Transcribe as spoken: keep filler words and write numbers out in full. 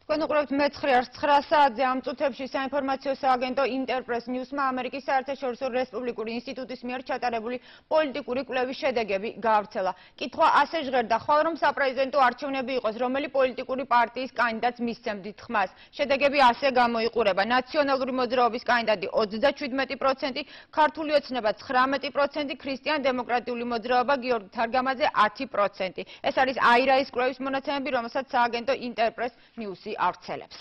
თქვენ უყურებთ მეცხრე არს ცხრა საათზე ამ წუთებში საინფორმაციო სააგენტო ინტერპრეს ნიუსმა ამერიკის საერთაშორისო რესპუბლიკური ინსტიტუტის მიერ ჩატარებული პოლიტიკური კვლევის შედეგები გაავრცელა. კითხვა ასე ჟღერდა, ხვალ რომ საპრეზიდენტო არჩევნები იყოს, რომელი პოლიტიკური პარტიის კანდიდატს მისცემდით ხმას. შედეგები ასე გამოიყურება: ნაციონალური მოძრაობის კანდიდატი ოცდაშვიდმეტი პროცენტი, ქართული ოცნება ცხრამეტი პროცენტი, ქრისტიან დემოკრატიული მოძრაობა გიორგი თარგამაძე ათი პროცენტი. ეს არის აირაის კვლევის მონაცემები, რომელსაც სააგენტო ინტერპრეს ნიუსი ავრცელებს.